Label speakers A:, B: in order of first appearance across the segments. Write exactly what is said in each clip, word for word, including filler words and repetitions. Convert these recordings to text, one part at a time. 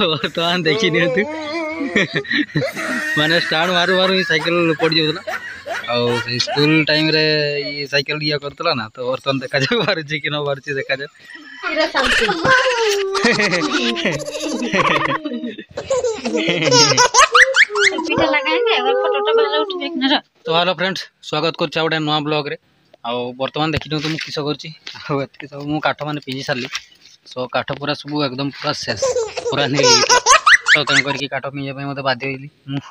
A: ବର୍ତ୍ତମାନ ଦେଖି ନିଅନ୍ତୁ, ମାନେ ଷ୍ଟାଣ୍ଡ ମାରୁ ମାରୁ ହିଁ ସାଇକେଲ ପଡ଼ିଯାଉଥିଲା। ଆଉ ସେଇ ସ୍କୁଲ ଟାଇମରେ ଇଏ ସାଇକେଲ ଇଏ କରୁଥିଲା ନା, ତ ବର୍ତ୍ତମାନ ଦେଖାଯାଉ ବାହାରୁଛି କି ନ ବାହାରୁଛି, ଦେଖାଯାଉ। ତ ହ୍ୟାଲୋ ଫ୍ରେଣ୍ଡସ୍, ସ୍ୱାଗତ କରୁଛି ଆଉ ଗୋଟେ ନୂଆ ବ୍ଲଗ୍ରେ। ଆଉ ବର୍ତ୍ତମାନ ଦେଖିନିଅନ୍ତୁ ମୁଁ କିସ କରୁଛି। ଆଉ ଏତିକି ସବୁ ମୁଁ କାଠ ମାନେ ପିଜି ସାରିଲି। ସୋ କାଠ ପୁରା ସବୁ ଏକଦମ ପୁରା ଶେଷ ପୁରା ନେଇଯାଇଥିଲା, ତ ତେଣୁ କରିକି କାଠ ପିଜିବା ପାଇଁ ମୋତେ ବାଧ୍ୟ ହେଇଲି ମୁଁ।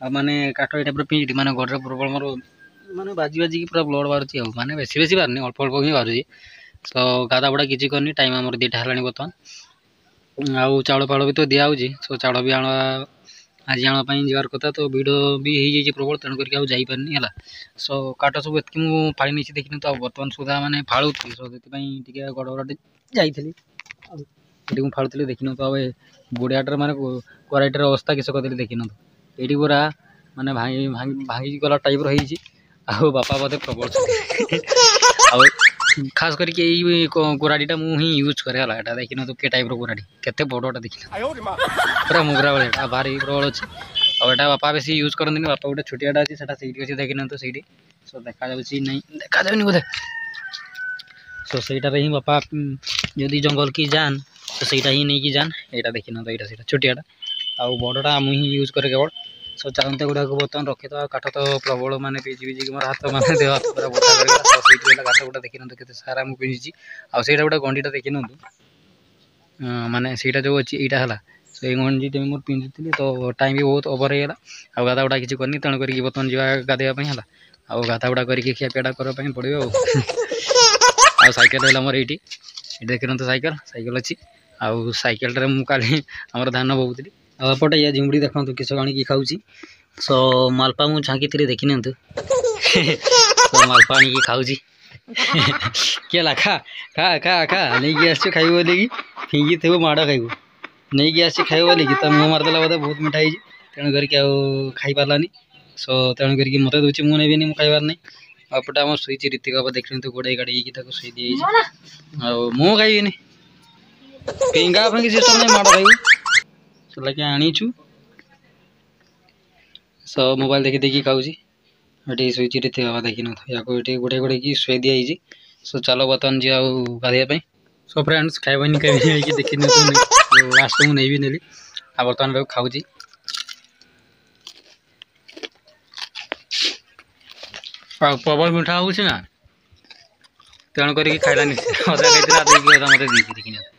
A: ଆଉ ମାନେ କାଠ ଏଇଟା ପୁରା ପିଜିଲି, ମାନେ ଘରେ ପ୍ରବଳ ମୋର ମାନେ ବାଜି ବାଜିକି ପୁରା ବ୍ଲଡ଼ ବାହାରୁଛି। ଆଉ ମାନେ ବେଶୀ ବେଶୀ ବାହାରୁନି, ଅଳ୍ପ ଅଳ୍ପ ହିଁ ବାହାରୁଛି। ତ ଗାଧା ବୁଡ଼ା କିଛି କରିନି, ଟାଇମ୍ ଆମର ଦୁଇଟା ହେଲାଣି ବର୍ତ୍ତମାନ। ଆଉ ଚାଉଳ ଫାଉଳ ବି ତ ଦିଆହେଉଛି, ସୋ ଚାଉଳ ବି ଆଣ ଆଜି ଆଣିବା ପାଇଁ ଯିବାର କଥା। ତ ଭିଡ଼ ବି ହେଇଯାଇଛି ପ୍ରବଳ, ତେଣୁ କରିକି ଆଉ ଯାଇପାରିନି ହେଲା। ସୋ କାଠ ସବୁ ଏତିକି ମୁଁ ଫାଳି ନେଇଛି ଦେଖିନି ତ। ଆଉ ବର୍ତ୍ତମାନ ସୁଦ୍ଧା ମାନେ ଫାଳୁଥିଲି, ସୋ ସେଥିପାଇଁ ଟିକେ ଗଡ଼ବଡ଼ ଯାଇଥିଲି। ଆଉ ଏଠି ମୁଁ ଫାଳୁଥିଲି ଦେଖିନିଅନ୍ତୁ। ଆଉ ଏ ବୁଢ଼ିଆଟାର ମାନେ କରାଇଟାର ଅବସ୍ଥା କିସ କରିଦେଲି ଦେଖିନିଅନ୍ତୁ। ଏଇଠି ପୁରା ମାନେ ଭାଙ୍ଗି ଭାଙ୍ଗି ଭାଙ୍ଗି ଗଲା ଟାଇପ୍ର ହେଇଛି। ଆଉ ବାପା ବୋଧେ ପ୍ରବଳ। ଆଉ ଖାସ କରିକି ଏଇ କୋରାଡ଼ିଟା ମୁଁ ହିଁ ୟୁଜ୍ କରେ ହେଲା। ଏଇଟା ଦେଖିନିଅନ୍ତୁ କି ଟାଇପ୍ର କୋରାଡ଼ି, କେତେ ବଡ଼ଟା ଦେଖିନିଅନ୍ତୁ, ପୁରା ମୁଗୁରା ଭଳିଆ। ଏଟା ଭାରି ପ୍ରବଳ ଅଛି। ଆଉ ଏଇଟା ବାପା ବେଶୀ ୟୁଜ୍ କରନ୍ତିନି। ବାପା ଗୋଟେ ଛୋଟିଆଟା ଅଛି, ସେଟା ସେଇଠି ଅଛି ଦେଖିନିଅନ୍ତୁ ସେଇଠି। ସୋ ଦେଖାଯାଉଛି ନାଇଁ, ଦେଖାଯାଉନି ବୋଧେ। ସୋ ସେଇଟାରେ ହିଁ ବାପା ଯଦି ଜଙ୍ଗଲ କି ଯାନ୍ ତ ସେଇଟା ହିଁ ନେଇକି ଯାନ୍। ଏଇଟା ଦେଖିନିଅନ୍ତୁ, ଏଇଟା ସେଇଟା ଛୋଟିଆଟା, ଆଉ ବଡ଼ଟା ମୁଁ ହିଁ ୟୁଜ୍ କରେ କେବଳ। ସୋ ଚାଲନ୍ତୁ ଗୁଡ଼ାକୁ ବର୍ତ୍ତମାନ ରଖିଦେବା। କାଠ ତ ପ୍ରବଳ ମାନେ ପିଜି ପିଜିକି ମୋର ହାତ ମାନେ ଦେହ ହାତ ପୁରା ବଥା କରିଗଲା। ତ ସେଇଠି ହେଲା କାଠ ଗୁଡ଼ା ଦେଖିନିଅନ୍ତୁ କେତେ ସାରା ମୁଁ ପିଜିଛି। ଆଉ ସେଇଟା ଗୋଟେ ଗଣ୍ଡିଟା ଦେଖିନିଅନ୍ତୁ, ମାନେ ସେଇଟା ଯେଉଁ ଅଛି ଏଇଟା ହେଲା ସେଇ ଗଞ୍ଜିଟା ମୁଁ ପିନ୍ଧିଥିଲି। ତ ଟାଇମ୍ ବି ବହୁତ ଓଭର ହେଇଗଲା, ଆଉ ଗାଧା ଗୁଡ଼ା କିଛି କରିନି, ତେଣୁ କରିକି ବର୍ତ୍ତମାନ ଯିବା ଗାଧୋଇବା ପାଇଁ ହେଲା। ଆଉ ଗାଧା ଗୁଡ଼ା କରିକି ଖିଆପିଆଟା କରିବା ପାଇଁ ପଡ଼ିବ। ଆଉ ଆଉ ସାଇକେଲ ହେଲା ମୋର ଏଇଠି, ଏଇଠି ଦେଖିନିଅନ୍ତୁ ସାଇକେଲ, ସାଇକେଲ ଅଛି। ଆଉ ସାଇକେଲଟାରେ ମୁଁ କାଲି ଆମର ଧାନ ବୋହୁଥିଲି। ଆଉ ଏପଟେ ଇଏ ଝିମୁଡ଼ି ଦେଖନ୍ତୁ କିସ ଆଣିକି ଖାଉଛି। ସୋ ମାଲପା ମୁଁ ଛାଙ୍କିଥିଲି ଦେଖିନିଅନ୍ତୁ, ମାଲପା ଆଣିକି ଖାଉଛି। କିଏ ହେଲା, ଖା ଖା ଖା ଖା, ନେଇକି ଆସିଛୁ ଖାଇବୁ ବୋଲିକି, ଫିଙ୍ଗିଥିବୁ ମାଡ଼ ଖାଇବୁ। ନେଇକି ଆସିଛି ଖାଇବ ବୋଲିକି ତା ମୁହଁ ମାରିଦେଲା ବୋଧେ, ବହୁତ ମିଠା ହେଇଛି, ତେଣୁ କରିକି ଆଉ ଖାଇପାରିଲାନି। ସୋ ତେଣୁ କରିକି ମୋତେ ଦେଉଛି, ମୁଁ ନେବିନି, ମୁଁ ଖାଇବାର ନାହିଁ। ଆଉ ଏପଟେ ଆମର ଶୋଇଛି ରୀତିକ ବାବା ଦେଖିନିଅନ୍ତୁ, ଗୋଡ଼େଇ ଗାଡ଼େଇକି ତାକୁ ଶୋଇ ଦିଆଯାଇଛି। ଆଉ ମୁଁ ଖାଇବିନି, ଫିଙ୍ଗା ଫିଙ୍ଗି ସିଷ୍ଟମ୍ ନାହିଁ, ମାଡ଼ ଖାଇବୁ। ସେଲାକି ଆଣିଛୁ। ସୋ ମୋବାଇଲ ଦେଖି ଦେଖି ଖାଉଛି। ଏଠି ଶୋଇଛି ରୀତିକ ବାବା ଦେଖିନିଅନ୍ତୁ, ୟାକୁ ଏଠି ଗୋଡ଼େଇ ଗୋଡ଼େଇକି ଶୋଇ ଦିଆଯାଇଛି। ସୋ ଚାଲ ବର୍ତ୍ତମାନ ଯିବା ଆଉ ଗାଧୋଇବା ପାଇଁ। ସୋ ଫ୍ରେଣ୍ଡସ୍, ଖାଇବାନି ଖାଇବାନି ହେଇକି ଦେଖିନିଅନ୍ତୁ, ଲାଷ୍ଟ ମୁଁ ନେଇବି ନେଲି। ଆଉ ବର୍ତ୍ତମାନ ତାକୁ ଖାଉଛି। ଆଉ ପ୍ରବଳ ମିଠା ହେଉଛି ନା, ତେଣୁ କରିକି ଖାଇଲାନି, ଅଧା ଖାଇଥିଲା ଦେଇକି ଅଧା ମୋତେ ଦେଇଛି ଦେଖିନିଅନ୍ତୁ।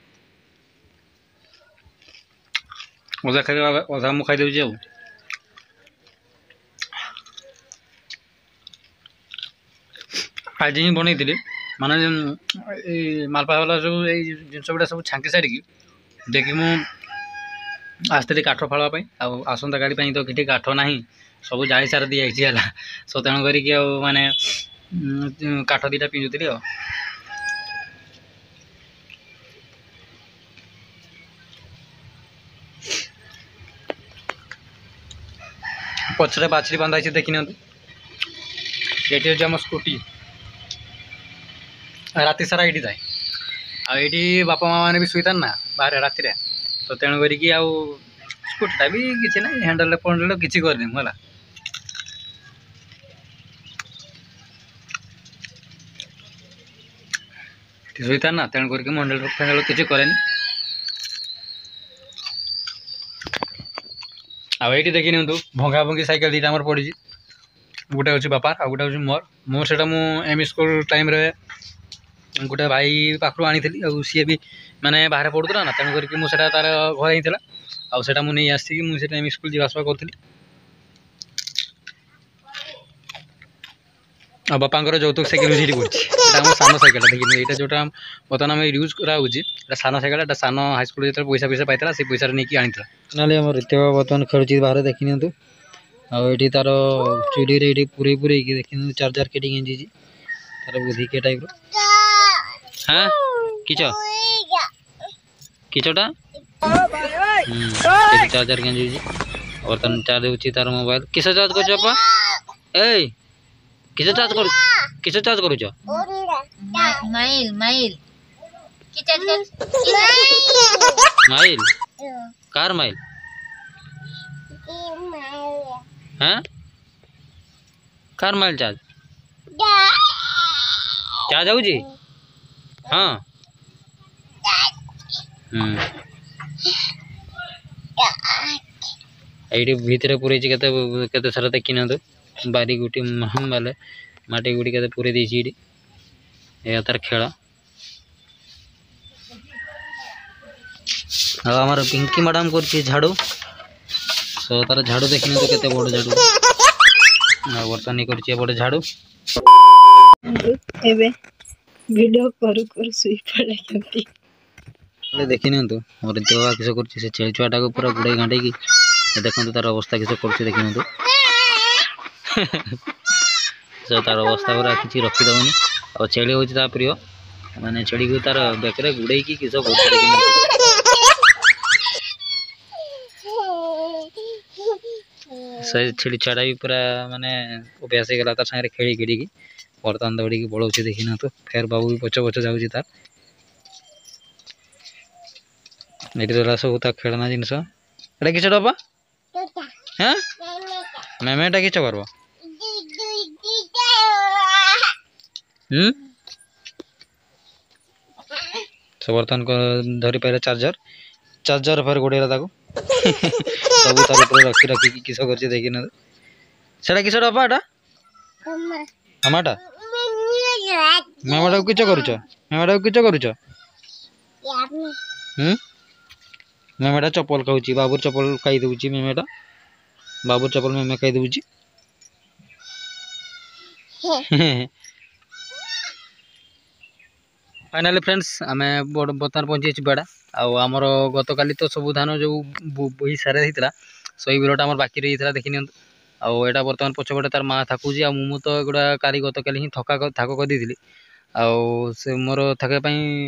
A: ଅଧା ଖାଇଦେଲା, ଅଧା ମୁଁ ଖାଇଦେଉଛି। ଆଉ ଆଜି ହିଁ ବନେଇଥିଲି, ମାନେ ଏଇ ମାଲପା ବାଲା ସବୁ ଏଇ ଜିନିଷ ଗୁଡ଼ା ସବୁ ଛାଙ୍କି ସାରିକି ଦେଖି ମୁଁ ଆସିଥିଲି କାଠ ଫାଳିବା ପାଇଁ। ଆଉ ଆସନ୍ତାକାଲି ପାଇଁ ତ କିଛି କାଠ ନାହିଁ, ସବୁ ଜାଳି ସାର ଦିଆଯାଇଛି ହେଲା। ସୋ ତେଣୁ କରିକି ଆଉ ମାନେ କାଠ ଦୁଇଟା ପିନ୍ଧୁଥିଲି। ଆଉ ପଛରେ ବାଛୁରୀ ବାନ୍ଧା ହେଇଛି ଦେଖିନିଅନ୍ତୁ। ଏଠି ହେଉଛି ଆମ ସ୍କୁଟି, ରାତି ସାରା ଏଇଠି ଥାଏ। ଆଉ ଏଇଠି ବାପା ମା ମାନେ ବି ଶୋଇଥାନ୍ତି ନା ବାହାରେ ରାତିରେ, ତ ତେଣୁ କରିକି ଆଉ ସ୍କୁଟିଟା ବି କିଛି ନାହିଁ, ହ୍ୟାଣ୍ଡେଲ୍ ଫ୍ୟାଣ୍ଡେଲ୍ କିଛି କରିନି ମୁଁ ହେଲା। ଏଠି ଶୋଇଥାନ୍ତି ନା, ତେଣୁ କରିକି ମୁଁ ହ୍ୟାଣ୍ଡେଲ୍ ଫ୍ୟାଣ୍ଡେଲ୍ କିଛି କରେନି। ଆଉ ଏଇଠି ଦେଖି ନିଅନ୍ତୁ ଭଙ୍ଗା ଭଙ୍ଗି ସାଇକେଲ ଦୁଇଟା ଆମର ପଡ଼ିଛି। ଗୋଟେ ହେଉଛି ବାପାର, ଆଉ ଗୋଟେ ହେଉଛି ମୋର। ମୋର ସେଇଟା ମୁଁ ଏମ୍ ଇ ସ୍କୁଲ ଟାଇମ୍ରେ ଗୋଟେ ଭାଇ ପାଖରୁ ଆଣିଥିଲି। ଆଉ ସିଏ ବି ମାନେ ବାହାରେ ପଢ଼ୁଥିଲା ନା, ତେଣୁ କରିକି ମୁଁ ସେଇଟା ତାର ଘରେ ହେଇଥିଲା, ଆଉ ସେଇଟା ମୁଁ ନେଇ ଆସିକି ମୁଁ ସେଇଟା ଏମ୍ ଇ ସ୍କୁଲ ଯିବା ଆସିବା କରୁଥିଲି। ଆଉ ବାପାଙ୍କର ଯୌତୁକ ସାଇକେଲ ବି ସେଇଠି ପଡ଼ିଛି। ଏଇଟା ଆମ ସାନ ସାଇକେଲଟା ଦେଖିନି, ଏଇଟା ଯେଉଁଟା ବର୍ତ୍ତମାନ ଆମେ ୟୁଜ୍ କରାହେଉଛି ଏଇଟା ସାନ ସାଇକେଲ। ଏଇଟା ସାନ ହାଇସ୍କୁଲ ଯେତେବେଳେ ପଇସା ପଇସା ପାଇଥିଲା ସେଇ ପଇସାରେ ନେଇକି ଆଣିଥିଲା। ନହେଲେ ଆମ ରିତିକ ବର୍ତ୍ତମାନ ଖେଳୁଛି ବାହାରେ ଦେଖିନିଅନ୍ତୁ। ଆଉ ଏଇଠି ତାର ଚୁଲିରେ ଏଇଠି ପୁରେଇ ପୁରେଇକି ଦେଖିନିଅନ୍ତୁ ଚାର୍ଜର କେଠି ଗେଞ୍ଜିଛି ତାର ବୁଦ୍ଧି କେ ଟାଇପ୍ର। হ্যাঁ, কিচ କିଚଟା ଚାର୍ଜର ଗେଞ୍ଜିଛି। ବର୍ତ୍ତମାନ ଚାର୍ଜ ହେଉଛି ତାର ମୋବାଇଲ। କିସ ଚାର୍ଜ କରୁଛ ବାପା? ଏଇ କିସ ଚାର୍ଜ କରୁ, କିସ ଚାର୍ଜ କରୁଛ?
B: Mile mile.
A: Mile car mile হ্যাঁ car mile charge charge হଉଛି ହଁ ହୁଁ ଏଇଠି ଭିତରେ ପୁରେଇଛି କେତେ କେତେ ସାରା ଦେଖି ନିଅନ୍ତୁ ବାରି ଗୁଟି ବାଲେ ମାଟି ଗୁଟି କେତେ ପୁରେଇ ଦେଇଛି ଏଇଠି ଏହା ତାର ଖେଳ ଆଉ ଆମର ପିଙ୍କି ମ୍ୟାଡ଼ାମ କରୁଛି ଝାଡ଼ୁ ସो ତାର ଝାଡ଼ୁ ଦେଖି ନିଅନ୍ତୁ କେତେ ବଡ଼ ଝାଡ଼ୁ ଆଉ ବର୍ତ୍ତମାନ ଇଏ କରୁଛି ଏପଟେ ଝାଡ଼ୁ
B: ଏବେ ଭିଡ଼ିଓ କରୁ କରୁ ଶୋଇ ପଡ଼ିଛନ୍ତି
A: ହେଲେ ଦେଖି ନିଅନ୍ତୁ ମୋର ଦେହ କିସ କରୁଛି ସେ ଛେଳି ଛୁଆଟାକୁ ପୁରା ଗୁଡ଼େଇ ଘାଣ୍ଟେଇକି ଦେଖନ୍ତୁ ତାର ଅବସ୍ଥା କିସ କରୁଛି ଦେଖି ନିଅନ୍ତୁ ସେ ତାର ଅବସ୍ଥା ପୁରା କିଛି ରଖିଦେବନି ଆଉ ଛେଳି ହେଉଛି ତା ପ୍ରିୟ ମାନେ ଛେଳିକୁ ତାର ବେକରେ ଗୁଡ଼େଇକି କିସ କରୁଛି ଦେଖି ନିଅନ୍ତୁ ସେ ଛେଳି ଛୁଆଟା ବି ପୁରା ମାନେ ଅଭ୍ୟାସ ହେଇଗଲା ତାର ସାଙ୍ଗରେ ଖେଳି ଖେଳିକି ବର୍ତ୍ତମାନ ଦୌଡ଼ିକି ପଳଉଛି ଦେଖି ନିଅନ୍ତୁ ଫେର ବାବୁ ବି ପଛ ପଛ ଯାଉଛି ତାର ଏଠି ରହିଲା ସବୁ ତା ଖେଳନା ଜିନିଷ ଏଟା କିସ ଡବା হ্যাঁ ম্যাম এটা কিସ করব হুম সে ବର୍ତ୍ତମାନ ଧରି ପାଇଲା ଚାର୍ଜର ଚାର୍ଜର ଫେର ଗୋଡ଼େଇଲା ତାକୁ ସବୁ ତାର ଉପରେ ରଖି ରଖିକି କିସ କରୁଛି ଦେଖି ନିଅନ୍ତୁ ସେଟା କିସ ଡବା ଏଟା ମାମାଟା ମାମାଟାକୁ କିସ କରୁଛ ମାମାଟାକୁ କିସ କରୁଛ ହୁଁ ମେମେଟା ଚପଲ ଖାଉଛି ବାବୁର ଚପଲ ଖାଇ ଦେଉଛି ମେମେଟା ବାବୁର ଚପଲ ମେମେ ଖାଇ ଦେଉଛି ଫାଇନାଲି ଫ୍ରେଣ୍ଡସ୍ ଆମେ ବର୍ତ୍ତମାନ ପହଞ୍ଚିଯାଇଛୁ ବେଡ଼ା ଆଉ ଆମର ଗତକାଲି ତ ସବୁ ଧାନ ଯେଉଁ ବୋହି ସାରା ହେଇଥିଲା ସେଇ ବିଲଟା ଆମର ବାକି ରହିଯାଇଥିଲା ଦେଖି ନିଅନ୍ତୁ ଆଉ ଏଇଟା ବର୍ତ୍ତମାନ ପଛପଟେ ତାର ମା ଥାକୁଛି ଆଉ ମୁଁ ତ ଏଗୁଡ଼ା କାଲି ଗତକାଲି ହିଁ ଥକା ଥାକ କରିଦେଇଥିଲି ଆଉ ସେ ମୋର ଥକିବା ପାଇଁ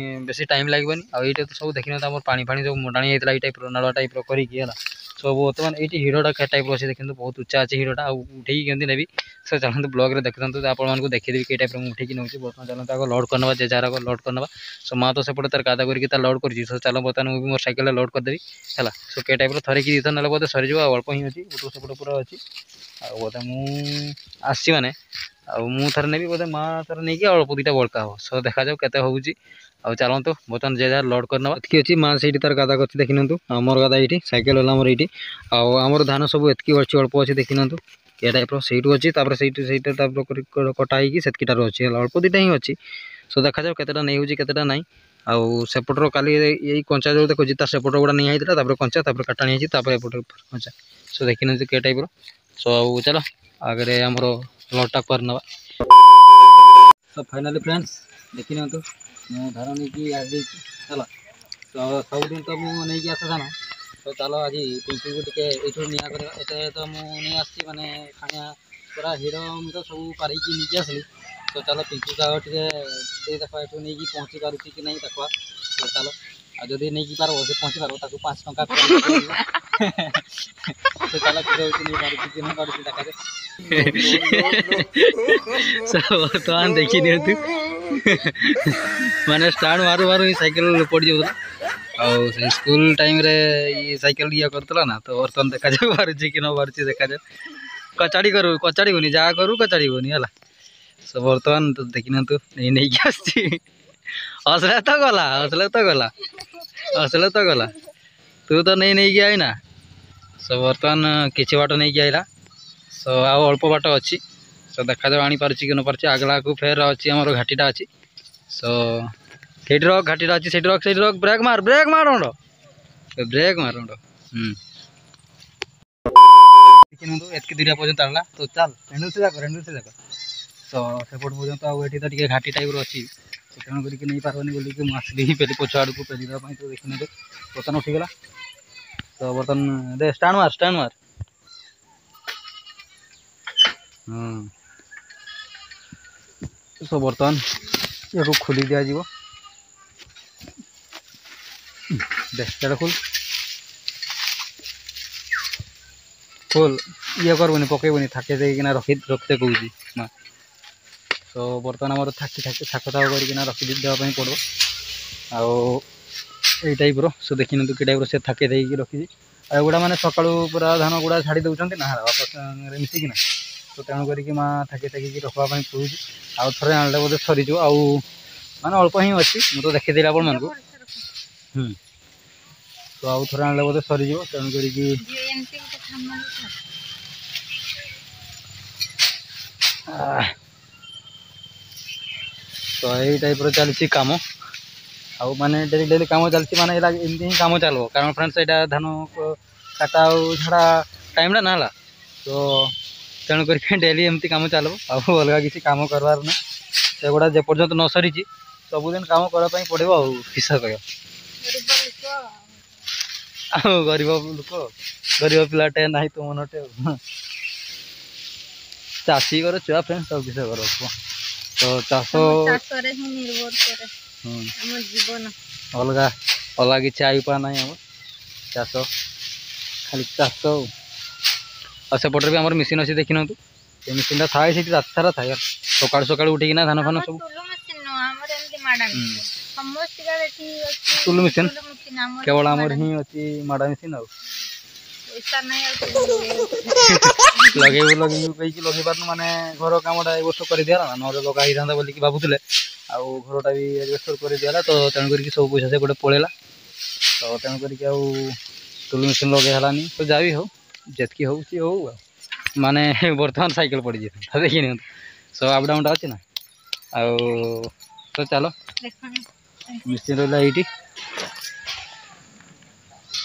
A: ବେଶୀ ଟାଇମ୍ ଲାଗିବନି ଆଉ ଏଇଟା ତ ସବୁ ଦେଖିନିଅନ୍ତୁ ଆମର ପାଣି ଫାଣି ସବୁ ମଣ୍ଡାଣି ହେଇଥିଲା ଏଇ ଟାଇପ୍ର ନାଳୁଆ ଟାଇପ୍ର କରିକି ହେଲା ସବୁ ବର୍ତ୍ତମାନ ଏଇଠି ହିଡ଼ଟା ଟାଇପ୍ର ଅଛି ଦେଖନ୍ତୁ ବହୁତ ଉଚ୍ଚା ଅଛି ହିଡ଼ଟା ଆଉ ଉଠେଇକି କେମିତି ନେବି ସେ ଚାଲନ୍ତୁ ବ୍ଲଗ୍ରେ ଦେଖୁଥାନ୍ତୁ ଆପଣମାନଙ୍କୁ ଦେଖେଇଦେବି କେଇ ଟାଇପ୍ର ମୁଁ ଉଠେଇକି ନେଉଛି ବର୍ତ୍ତମାନ ଚାଲନ୍ତୁ ଆଗ ଲୋଡ଼ କରିନେବା ଯେ ଯାହାର ଆଗ ଲୋଡ଼ କରିନେବା ସୋ ମା ତ ସେପଟେ ତାର ଗାଦା କରିକି ତାର ଲୋଡ଼ କରୁଛି ସୋ ଚାଲ ବର୍ତ୍ତମାନ ମୁଁ ବି ମୋର ସାଇକେଲରେ ଲୋଡ଼ କରିଦେବି ହେଲା ସୋ କେ ଟାଇପ୍ର ଥରେ କି ଦୁଇଥର ନେଲେ ବୋଧେ ସରିଯିବ ଆଉ ଅଳ୍ପ ହିଁ ଅଛି ଗୋଟେ ସେପଟେ ପୁରା ଅଛି ଆଉ ବୋଧେ ମୁଁ ଆସିଛି ମାନେ ଆଉ ମୁଁ ଥରେ ନେବି ବୋଧେ ମା ଥରେ ନେଇକି ଅଳ୍ପ ଦୁଇଟା ବଳକା ହେବ ସୋ ଦେଖାଯାଉ କେତେ ହେଉଛି ଆଉ ଚାଲନ୍ତୁ ବର୍ତ୍ତମାନ ଯେ ଯାହାର ଲୋଡ଼ କରିନେବା ଏତିକି ଅଛି ମା ସେଇଠି ତାର ଗାଦା କରିଛି ଦେଖି ନିଅନ୍ତୁ ଆଉ ମୋର ଗାଦା ଏଇଠି ସାଇକେଲ ହେଲା ଆମର ଏଇଠି ଆଉ ଆମର ଧାନ ସବୁ ଏତିକି ଅଛି ଅଳ୍ପ ଅଛି ଦେଖି ନିଅନ୍ତୁ ଏ ଟାଇପ୍ର ସେଇଠୁ ଅଛି ତାପରେ ସେଇଠୁ ସେଇଟା ତାପରେ କଟା ହେଇକି ସେତିକିଟାରୁ ଅଛି ହେଲା ଅଳ୍ପ ଦୁଇଟା ହିଁ ଅଛି ସୋ ଦେଖାଯାଉ କେତେଟା ନେଇ ହେଉଛି କେତେଟା ନାହିଁ ଆଉ ସେପଟର କାଲି ଏଇ କଞ୍ଚା ଯେଉଁ ଦେଖୁଛି ତାର ସେପଟର ଗୁଡ଼ା ନିଆ ହେଇଥିଲା ତାପରେ କଞ୍ଚା ତାପରେ କାଟା ହେଇଛି ତାପରେ ଏପଟରେ କଞ୍ଚା ସୋ ଦେଖି ନିଅନ୍ତୁ କେ ଟାଇପ୍ର ସୋ ଆଉ ଚାଲ ଆଗରେ ଆମର ଲୋଡ଼ଟା କରିନେବା ତ ଫାଇନାଲି ଫ୍ରେଣ୍ଡସ୍ ଦେଖି ନିଅନ୍ତୁ ମୁଁ ଧାନ ନେଇକି ଆସିଯାଇଛି ହେଲା ତ ସବୁଦିନ ତ ମୁଁ ନେଇକି ଆସେ ଧାନ ତ ଚାଲ ଆଜି ପିଙ୍କିକୁ ଟିକେ ଏଇଠୁ ନିଆ କରିବା ଏତେ ତ ମୁଁ ନେଇ ଆସିଛି ମାନେ ଖାଣିଆ ପୁରା ହିଡ଼ ମୁଁ ତ ସବୁ ପାରିକି ନେଇକି ଆସିଲି ତ ଚାଲ ପିଙ୍କିକୁ ଆଉ ଟିକେ ଦେଇ ଦେଖ ଏଠୁ ନେଇକି ପହଞ୍ଚି ପାରୁଛି କି ନାହିଁ ଦେଖିବା ତ ଚାଲ ଆଉ ଯଦି ନେଇକି ପାରିବ ସେ ପହଞ୍ଚି ପାରିବ ତାକୁ ପାଞ୍ଚ ଟଙ୍କା ସେ ଚାଲ ହେଉଛି ନେଇ ପାରୁଛି କି ନ ପାରୁଛି ଦେଖାଯାଉ ବର୍ତ୍ତମାନ ଦେଖି ନିଅନ୍ତୁ ମାନେ ଷ୍ଟାଣ୍ଡ ମାରୁ ମାରୁ ହିଁ ସାଇକେଲ ପଡ଼ିଯାଉଥିଲା ଆଉ ସେ ସ୍କୁଲ ଟାଇମ୍ରେ ଇଏ ସାଇକେଲ ଇଏ କରୁଥିଲା ନା ତ ବର୍ତ୍ତମାନ ଦେଖାଯାଉ ପାରୁଛି କି ନ ପାରୁଛି ଦେଖାଯାଉ କଚାଡ଼ି କରୁ କଚାଡ଼ିବୁନି ଯାହା କରୁ କଚାଡ଼ିବୁନି ହେଲା ସୋ ବର୍ତ୍ତମାନ ତ ଦେଖି ନିଅନ୍ତୁ ନେଇ ନେଇକି ଆସିଛି ହସଲେ ତ ଗଲା ହସଲେ ତ ଗଲା ହସଲେ ତ ଗଲା ତୁ ତ ନେଇ ନେଇକି ଆଇନା ସୋ ବର୍ତ୍ତମାନ କିଛି ବାଟ ନେଇକି ଆଇଲା ସୋ ଆଉ ଅଳ୍ପ ବାଟ ଅଛି ସୋ ଦେଖାଯାଉ ଆଣିପାରୁଛି କି ନ ପାରୁଛି ଆଗଲାକୁ ଫେର ଅଛି ଆମର ଘାଟିଟା ଅଛି ସୋ ସେଇଠି ରଖ ଘାଟିଟା ଅଛି ସେଇଠି ରଖ ସେଇଠି ରଖ ବ୍ରେକ୍ ମାର ବ୍ରେକ୍ ମାର ବ୍ରେକ୍ ମାର ହୁଁ ଦେଖିନିଅନ୍ତୁ ଏତିକି ଦୂରିଆ ପର୍ଯ୍ୟନ୍ତ ଆଣିଲା ତ ଚାଲ ରେଣ୍ଡୁଲ ଯାକ ରେଣ୍ଡୁଲ ଯାକ ତ ସେପଟ ପର୍ଯ୍ୟନ୍ତ ଆଉ ଏଠି ତ ଟିକେ ଘାଟି ଟାଇପ୍ର ଅଛି ତ ତେଣୁ କରିକି ନେଇପାରିବନି ବୋଲିକି ମୁଁ ଆସିଲି ପେଲି ପଛ ଆଡ଼କୁ ପେଲି ଦେବା ପାଇଁ ତ ଦେଖିନିଅନ୍ତୁ ବର୍ତ୍ତମାନ ଉଠିଗଲା ତ ବର୍ତ୍ତମାନ ଦେ ଷ୍ଟାଣ୍ଡ ମାର ଷ୍ଟାଣ୍ଡ ମାର ହୁଁ ସୋ ବର୍ତ୍ତମାନ ୟାକୁ ଖୋଲି ଦିଆଯିବ ଦେ ସେଟା ଖୋଲ ଖୋଲ ଇଏ କରିବୁନି ପକେଇବୁନି ଥାକେ ଦେଇକିନା ରଖି ରଖିତେ କହୁଛି ମା ତ ବର୍ତ୍ତମାନ ଆମର ଥାକି ଥାକି ଥାକ ଥାକ କରିକିନା ରଖି ଦେବା ପାଇଁ ପଡ଼ିବ ଆଉ ଏଇ ଟାଇପ୍ର ସୋ ଦେଖିନିଅନ୍ତୁ କି ଟାଇପ୍ର ସେ ଥାକେ ଦେଇକି ରଖିଛି ଆଉ ଏଗୁଡ଼ା ମାନେ ସକାଳୁ ପୁରା ଧାନ ଗୁଡ଼ା ଛାଡ଼ି ଦେଉଛନ୍ତି ନା ବାପା ସାଙ୍ଗରେ ମିଶିକିନା ତ ତେଣୁ କରିକି ମା ଥାକି ଥାକିକି ରଖିବା ପାଇଁ କହୁଛି ଆଉ ଥରେ ଆଣିଲେ ବୋଧେ ସରିଯିବ ଆଉ ମାନେ ଅଳ୍ପ ହିଁ ଅଛି ମୁଁ ତ ଦେଖିଦେଲି ଆପଣମାନଙ୍କୁ ହୁଁ ତ ଆଉ ଥରେ ଆଣିଲେ ବୋଧେ ସରିଯିବ ତେଣୁ କରିକି
B: ଏମିତି ଗୋଟେ ଥାମା
A: ଆଃ, ତ ଏଇ ଟାଇପ୍ର ଚାଲିଛି କାମ ଆଉ ମାନେ ଡେଲି ଡେଲି କାମ ଚାଲିଛି ମାନେ ଏଇଟା ଏମିତି ହିଁ କାମ ଚାଲିବ କାରଣ ଫ୍ରେଣ୍ଡସ୍ ଏଇଟା ଧାନ କାଟା ଆଉ ଝଡ଼ା ଟାଇମ୍ଟା ନା ହେଲା ତ ତେଣୁ କରିକି ଡେଲି ଏମିତି କାମ ଚାଲିବ ଆଉ ଅଲଗା କିଛି କାମ କରିବାର ନାହିଁ ସେଗୁଡ଼ା ଯେପର୍ଯ୍ୟନ୍ତ ନ ସରିଛି ସବୁଦିନ କାମ କରିବା ପାଇଁ ପଡ଼ିବ ଆଉ କିସ କହିବ
B: ଗରିବ ଲୋକ
A: ଆଉ ଗରିବ ଲୋକ ଗରିବ ପିଲାଟେ ନାହିଁ ତୁମ ନଟେ ଆଉ ଚାଷୀ ଘର ଛୁଆ ଫ୍ରେଣ୍ଡ ଆଉ କିସ କର କୁହ ତ ଚାଷ
B: ଆମ ଚାଷରେ ହିଁ ନିର୍ଭର କରେ
A: ହୁଁ
B: ଆମ ଜୀବନ
A: ଅଲଗା ଅଲଗା କିଛି ଆଇପା ନାହିଁ ଆମର ଚାଷ ଖାଲି ଚାଷ ଆଉ ଆଉ ସେପଟରେ ବି ଆମର ମେସିନ୍ ଅଛି ଦେଖିନିଅନ୍ତୁ ସେ ମେସିନ୍ଟା ଥାଏ ସେଇଠି ରାତି ସାରା ଥାଏ ସକାଳୁ ସକାଳୁ ଉଠିକିନା ଧାନ ଫାନ
B: ଆମର
A: ସବୁ
B: ଟୁଲୁ ମେସିନ୍ ନୁହଁ ଆମର ଏମିତି ମାଡ଼ା ମେସିନ୍ ସମସ୍ତିଙ୍କର ଏଠି ଅଛି
A: ଟୁଲୁ ମେସିନ୍?
B: ଟୁଲୁ ମେସିନ୍ ଆମର
A: କେବଳ
B: ହିଁ
A: ଆମର
B: ମାଡ଼ା
A: ହିଁ ଅଛି ମାଡ଼ା ମେସିନ୍ ଆଉ
B: ପଇସା ନାହିଁ ଆଉ ଟୁଲୁ ଲଗେଇବାକୁ
A: ଲଗେଇବୁ ଲଗେଇବୁ କହିକି ଲଗେଇ ପାରୁନୁ ମାନେ ଘର କାମଟା ଏ ବର୍ଷ କରିଦିଆଲା ନା ନହେଲେ ଲଗା ହେଇଥାନ୍ତା ବୋଲିକି ଭାବୁଥିଲେ ଆଉ ଘରଟା ବି ଆଜବେଷ୍ଟର କରିଦିଆଲା ତ ତେଣୁ କରିକି ସବୁ ପଇସା ସେପଟେ ପଳେଇଲା ତ ତେଣୁ କରିକି ଆଉ ଟୁଲୁ ମେସିନ୍ ଲଗେଇ ହେଲାନି ତ ଯାହା ବି ହଉ ଯେତିକି ହେଉଛି ହଉ ଆଉ ମାନେ ବର୍ତ୍ତମାନ ସାଇକେଲ ପଡ଼ିଯାଇଥାନ୍ତା ଦେଖି ନିଅନ୍ତୁ ସବୁ ଅପ୍ ଡାଉନଟା ଅଛି ନା ଆଉ ତ ଚାଲ
B: ଦେଖନ୍ତୁ
A: ମେସିନ୍ ରହିଲା ଏଇଠି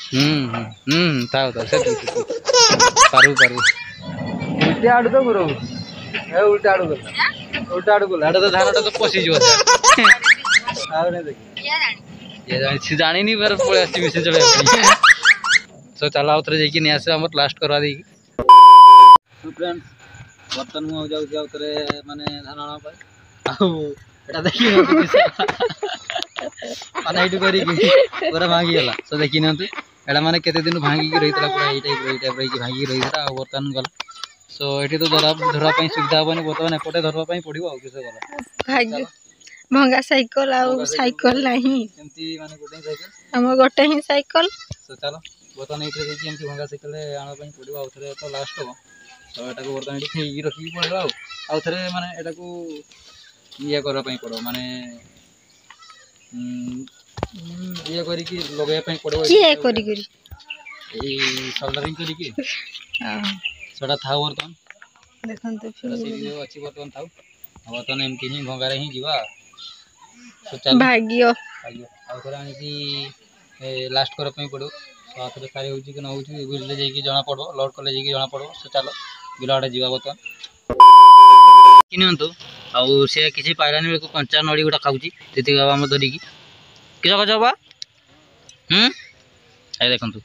A: ହୁଁ ହୁଁ ହୁଁ ଥାଉ ଥାଉ ସେତିକି ସେତିକି ପାରିବୁ ପାରିବୁ ଉଲ୍ଟା ଆଡୁ ତ ଘୁରଉଛି ଏ ଉଲ୍ଟା ଆଡୁ ଗଲା ଉଲ୍ଟା ଆଡୁ ଗଲା ଏଟା ତ ଧାନଟା ତ ପଶିଯିବ ଆଉ ନାଇଁ ଦେଖି
B: କିଏ ଜାଣି
A: ଇଏ ଜାଣିଛି ଜାଣିନି ଫେର ପଳେଇ ଆସିଛି ମେସିନ୍ ଚଲେଇବା ପାଇଁ ତ ଚାଲ ଆଉ ଥରେ ଯାଇକି ନେଇ ଆସିବା ଆମର ଲାଷ୍ଟ କରିବା ଦେଇକି ଫ୍ରେଣ୍ଡସ୍ ବର୍ତ୍ତମାନ ମୁଁ ଆଉ ଯାଉଛି ଆଉ ଥରେ ମାନେ ଧାନ ଆଣିବା ପାଇଁ ଆଉ ଏଟା ଦେଖି ନିଅନ୍ତୁ ମାନେ ଏଇଠୁ କରିକି ପୁରା ଭାଙ୍ଗିଗଲା ତ ଦେଖି ନିଅନ୍ତୁ ଏଇଟା ମାନେ କେତେ ଦିନ ଭାଙ୍ଗିକି ରହିଥିଲା ପୁରା ଏଇ ଟାଇପ୍ର ଏଇ ଟାଇପ୍ର ହେଇକି ଭାଙ୍ଗିକି ରହିଥିଲା ଆଉ ବର୍ତ୍ତମାନ ଗଲା ସୋ ଏଠି ତ ଧରା ଧରିବା ପାଇଁ ସୁବିଧା ହବନି ବର୍ତ୍ତମାନ ଏପଟେ ଧରିବା ପାଇଁ ପଡ଼ିବ ଆଉ କିସ କଲା
B: ଭାଗ୍ୟ ଭଙ୍ଗା ସାଇକେଲ ଆଉ
A: ଭଙ୍ଗା ସାଇକେଲ
B: ସାଇକେଲ ନାହିଁ
A: ଏମିତି ମାନେ ଗୋଟେ ହିଁ ସାଇକେଲ
B: ଆମ ଗୋଟେ ହିଁ ସାଇକେଲ
A: ତ ଚାଲ ବର୍ତ୍ତମାନ ଏଇଥିରେ ଯାଇକି ଏମିତି ଭଙ୍ଗା ସାଇକେଲରେ ଆଣିବା ପାଇଁ ପଡ଼ିବ ଆଉ ଥରେ ତ ଲାଷ୍ଟ ହବ ତ ଏଟାକୁ ବର୍ତ୍ତମାନ ଏଠି ଫେରିକି ରଖିକି ପଳେଇବା ଆଉ ଆଉ ଥରେ ମାନେ ଏଟାକୁ ଇଏ କରିବା ପାଇଁ ପଡ଼ିବ ମାନେ ଉଁ, ଉଁ, ଇଏ କରିକି ଲଗେଇବା ପାଇଁ ପଡ଼ିବ
B: କିଏ କରି କରି
A: ଏଇ ସୋଲ୍ଡରିଂ କରିକି
B: ହଁ,
A: ସେଟା ଥାଉ ବର୍ତ୍ତମାନ
B: ଦେଖନ୍ତୁ
A: ସେଟା ସେଇଠି ଯୋଉ ଅଛି ବର୍ତ୍ତମାନ ଥାଉ ଆଉ ବର୍ତ୍ତମାନ ଏମିତି ହିଁ ଭଙ୍ଗାରେ ହିଁ ଯିବା ତ ଚାଲ
B: ଭାଗ୍ୟ
A: ଆଜ୍ଞା ଆଉ ଥରେ ଆଣିକି ଲାଷ୍ଟ କରିବା ପାଇଁ ପଡ଼ିବ ତ ଆଉ ଥରେ ସାରି ହେଉଛି କି ନ ହେଉଛି ବୁଝିଲେ ଯାଇକି ଜଣା ପଡ଼ିବ ଲୋଡ଼ କଲେ ଯାଇକି ଜଣା ପଡ଼ିବ ସେ ଚାଲ ବିଲ ଆଡ଼େ ଯିବା ବର୍ତ୍ତମାନ ନିଅନ୍ତୁ ଆଉ ସେ କିଛି ପାଇଲାନି ବେଳକୁ କଞ୍ଚା ନଡ଼ି ଗୁଡ଼ା ଖାଉଛି ଯେତିକି ବାବା ଆମର ଧରିକି କିସ ଖାଉଛ ବାବା ହୁଁ ଏ ଦେଖନ୍ତୁ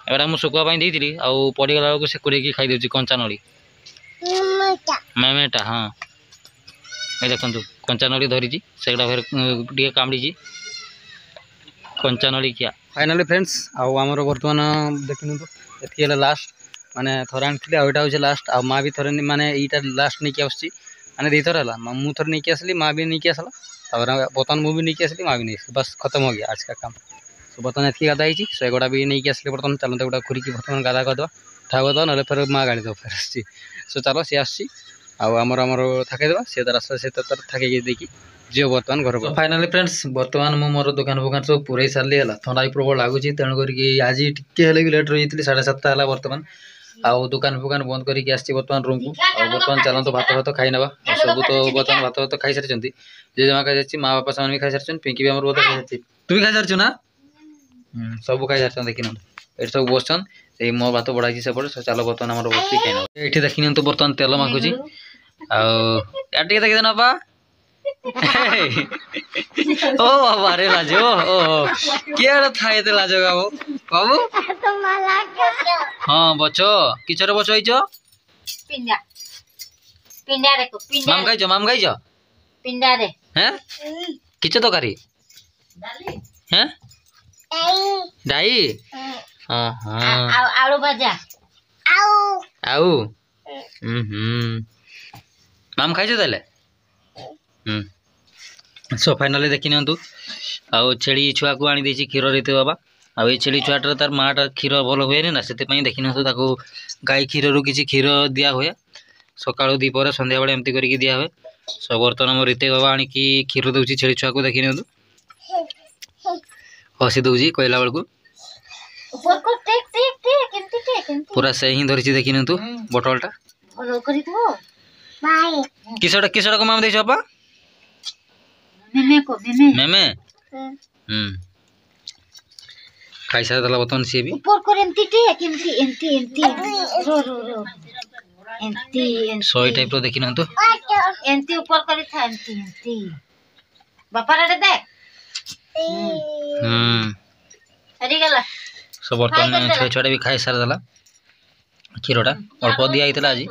A: ଏଗୁଡ଼ା ମୁଁ ଶୁଖୁଆ ପାଇଁ ଦେଇଥିଲି ଆଉ ପଡ଼ିଗଲା ବେଳକୁ ସେ କୁରେଇକି ଖାଇଦେଉଛି କଞ୍ଚା ନଡ଼ି ମେମେଟା ହଁ ଏ ଦେଖନ୍ତୁ କଞ୍ଚା ନଡ଼ି ଧରିଛି ସେଗୁଡ଼ା ଫେର ଟିକେ କାମୁଡ଼ିଛି କଞ୍ଚା ନଡ଼ି ଖିଆ ଫାଇନାଲି ଫ୍ରେଣ୍ଡସ୍ ଆଉ ଆମର ବର୍ତ୍ତମାନ ଦେଖିନିଅନ୍ତୁ ଏତିକି ହେଲା ଲାଷ୍ଟ ମାନେ ଥରେ ଆଣିଥିଲି ଆଉ ଏଇଟା ହେଉଛି ଲାଷ୍ଟ ଆଉ ମା ବି ଥରେ ମାନେ ଏଇଟା ଲାଷ୍ଟ ନେଇକି ଆସୁଛି ମାନେ ଦୁଇଥର ହେଲା ମୁଁ ଥରେ ନେଇକି ଆସିଲି ମା ବି ନେଇକି ଆସିଲା ତାପରେ ବର୍ତ୍ତମାନ ମୁଁ ବି ନେଇକି ଆସିଲି ମା ବି ନେଇ ଆସିଲି ବାସ୍ ଖତମ हो गया आज का काम ତ ବର୍ତ୍ତମାନ ଏତିକି ଗାଧା ହେଇଛି ସେ ଏଗୁଡ଼ା ବି ନେଇକି ଆସିଲେ ବର୍ତ୍ତମାନ ଚାଲନ୍ତୁ ଏଗୁଡ଼ା ଖୁରିକି ବର୍ତ୍ତମାନ ଗାଧା କରିଦେବା ଥାଉ କରିଦେବା ନହେଲେ ଫେର ମା ଗାଳି ଦେବ ଫେର ଆସିଛି ସୋ ଚାଲ ସିଏ ଆସୁଛି ଆଉ ଆମର ଆମର ଥାକେଇଦେବା ସିଏ ତାର ଆସିଲା ସେ ତାର ଥାକେଇକି ଦେଇକି ଯିବ ବର୍ତ୍ତମାନ ଘରକୁ ଫାଇନାଲି ଫ୍ରେଣ୍ଡସ୍ ବର୍ତ୍ତମାନ ମୁଁ ମୋର ଦୋକାନ ଫୋକାନ ସବୁ ପୁରେଇ ସାରିଲି ହେଲା ଥଣ୍ଡା ବି ପ୍ରବଳ ଲାଗୁଛି ତେଣୁ କରିକି ଆଜି ଟିକେ ହେଲେ ବି ଲେଟ୍ ରହିଯାଇଥିଲି ସାଢ଼େ ସାତଟା ହେଲା ବର୍ତ୍ତମାନ ଆଉ ଦୋକାନ ଫୋକାନ ବନ୍ଦ କରିକି ଆସିଛି ବର୍ତ୍ତମାନ ରୁମ୍କୁ ଆଉ ବର୍ତ୍ତମାନ ଚାଲନ୍ତୁ ଭାତ ଭାତ ଖାଇ ନେବା ଆଉ ସବୁ ତ ବର୍ତ୍ତମାନ ଭାତ ଭାତ ଖାଇସାରିଛନ୍ତି ଜେଜେମା ଖାଇସାରିଛି ମା ବାପା ସେମାନେ ବି ଖାଇସାରିଛନ୍ତି ପିଙ୍କି ବି ଆମର ବୋଧେ ଖାଇସାରିଛି ତୁ ବି ଖାଇସାରିଛୁ ନା ହୁଁ ସବୁ ଖାଇସାରିଛନ୍ତି ଦେଖିନିଅନ୍ତୁ ଏଠି ସବୁ ବସିଛନ୍ ସେଇ ମୋ ଭାତ ବଢ଼ା ହେଇଛି ସେପଟେ ଚାଲ ବର୍ତ୍ତମାନ ଆମର ବସିକି ଖାଇ ନେବା ଏଇଠି ଦେଖି ନିଅନ୍ତୁ ବର୍ତ୍ତମାନ ତେଲ ମାଖୁଛି ଆଉ ୟାର ଟିକେ ଦେଖିଦେନ ବାପା ଓ ବାବା ରେ ଲାଜ ଓ କିଏ ଥାଏ ଏତେ ଲାଜ ବାବୁ ବାବୁ ହଁ ବଛ କିଛରେ ବଛ ହେଇଛ
B: ପିଣ୍ଡା ପିଣ୍ଡା ଦେଖ ପିଣ୍ଡା
A: ମାମ ଖାଇଛ ମାମ ଖାଇଛ
B: ପିଣ୍ଡାରେ
A: ହେଁ କିଛ ତରକାରୀ ହେଁ ଡାଇ ହଁ ହଁ
B: ଆଉ ଆଳୁ ଭଜା
A: ଆଉ ହୁଁ ହୁଁ ମାମ ଖାଇଛ ତାହେଲେ ହୁଁ ସୋ ଫାଇନାଲି ଦେଖି ନିଅନ୍ତୁ, ଆଉ ଛେଳି ଛୁଆକୁ ଆଣି ଦେଇଛି କ୍ଷୀର ରିତେ ବାବା। ଆଉ ଏଇ ଛେଳି ଛୁଆଟାର ତାର ମାଆଟା କ୍ଷୀର ଭଲ ହୁଏନି ନା, ସେଥିପାଇଁ ଦେଖି ନିଅନ୍ତୁ ତାକୁ ଗାଈ କ୍ଷୀରରୁ କିଛି କ୍ଷୀର ଦିଆ ହୁଏ, ସକାଳୁ, ଦ୍ୱିପହରେ, ସନ୍ଧ୍ୟାବେଳେ ଏମିତି କରିକି ଦିଆ ହୁଏ। ସୋ ବର୍ତ୍ତମାନ ଆମ ରିତେ ବାବା ଆଣିକି କ୍ଷୀର ଦେଉଛି ଛେଳି ଛୁଆକୁ। ଦେଖି ନିଅନ୍ତୁ, ହସି ଦେଉଛି କହିଲା ବେଳକୁ। ପୁରା ସେ ହିଁ ଧରିଛି, ଦେଖି ନିଅନ୍ତୁ ବୋଟଲଟା। କିସଟା କିସଟାକୁ ମାମ ଦେଇଛ ବାପା? ମେମେ। ହୁଁ, ଖାଇସାରିଦେଲା ବର୍ତ୍ତମାନ ସିଏ ବି। ଶହେ ଟାଇପ୍ର ଦେଖି ନିଅନ୍ତୁ।
C: ଏମିତି ଉପର କରିଥା, ଏମିତି ଏମିତି ବାପାର ଦେଖ।
A: ହୁଁ,
C: ସରିଗଲା।
A: ସୋ ବର୍ତ୍ତମାନ ଛୁଆ ଛୁଆଟା ବି ଖାଇ ସାରିଦେଲା କ୍ଷୀରଟା, ଅଳ୍ପ ଦିଆ ହେଇଥିଲା ଆଜି।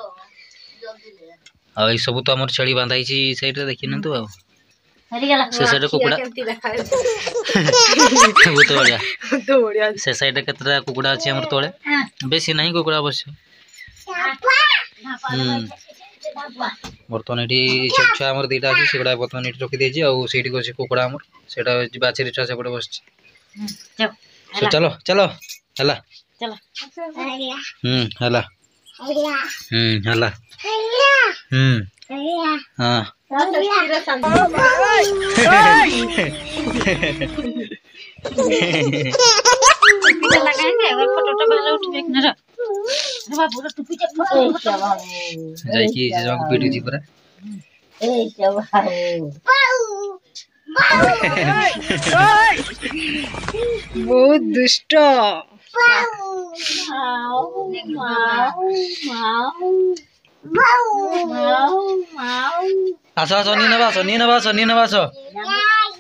A: ଆଉ ଏଇ ସବୁ ତ ଆମର ଛେଳି ବାନ୍ଧା ହେଇଛି ସେଇଟା ଦେଖି ନିଅନ୍ତୁ। ଆଉ ସେ ସାଇଡରେ କୁକୁଡ଼ା ବହୁତ ବଢିଆ। ସେ ସାଇଡରେ କେତେଟା କୁକୁଡ଼ା ଅଛି ଆମର ତଳେ, ବେଶୀ ନାହିଁ କୁକୁଡ଼ା ଅବଶ୍ୟ। ହୁଁ, ବର୍ତ୍ତମାନ ଏଠି ଛେଳି ଛୁଆ ଆମର ଦୁଇଟା ଅଛି, ସେଗୁଡ଼ା ବର୍ତ୍ତମାନ ଏଠି ରଖିଦେଇଛି। ଆଉ ସେଇଠି ଅଛି କୁକୁଡ଼ା ଆମର, ସେଇଟା ବାଛେରୀ ଛୁଆ ସେପଟେ ବସିଛି। ଚାଲ ଚାଲ, ହେଲା। ହୁଁ, ହେଲା। ହୁଁ, ହେଲା। ହୁଁ, ହଁ। ଯାଇକି ଜେଜେମାକୁ ପିଟୁଛି ପୁରା।
B: ବହୁତ ଦୁଷ୍ଟ।
A: ଆସ ଆସ, ନିଏ ନେବା ଆସ, ନିଏ ନେବା ଆସ, ନିଏ ନେବା ଆସ,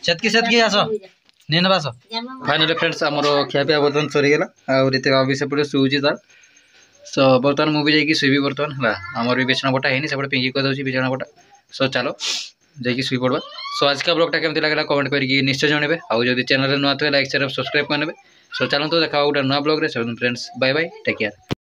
A: ସେତିକି ସେତିକି ଆସ, ନିଏ ନେବା ଆସ। ଫାଇନାଲି ଫ୍ରେଣ୍ଡସ୍, ଆମର ଖିଆପିଆ ବର୍ତ୍ତମାନ ସରିଗଲା। ଆଉ ରୀତି ବାବୁ ବି ସେପଟେ ଶୋଉଛି ତାର। ସୋ ବର୍ତ୍ତମାନ ମୁଁ ବି ଯାଇକି ଶୋଇବି ବର୍ତ୍ତମାନ। ହେଲା, ଆମର ବି ବିଛଣା ପଟା ହେଇନି, ସେପଟେ ପିଙ୍କି କରିଦେଉଛି ବିଛଣା ପଟା। ସୋ ଚାଲ ଯାଇକି ଶୋଇ ପଡ଼ବା। ସୋ ଆଜିକା ବ୍ଲଗ୍ଟା କେମିତି ଲାଗିଲା କମେଣ୍ଟ କରିକି ନିଶ୍ଚୟ ଜଣାଇବେ। ଆଉ ଯଦି ଚ୍ୟାନେଲରେ ନୂଆ ଥିବେ, ଲାଇକ୍, ସେୟାର, ସବସ୍କ୍ରାଇବ୍ କରିନେବେ। ସୋ ଚାଲନ୍ତୁ, ଦେଖା ଗୋଟେ ନୂଆ ବ୍ଲଗ୍ରେ। Friends, bye bye, take care.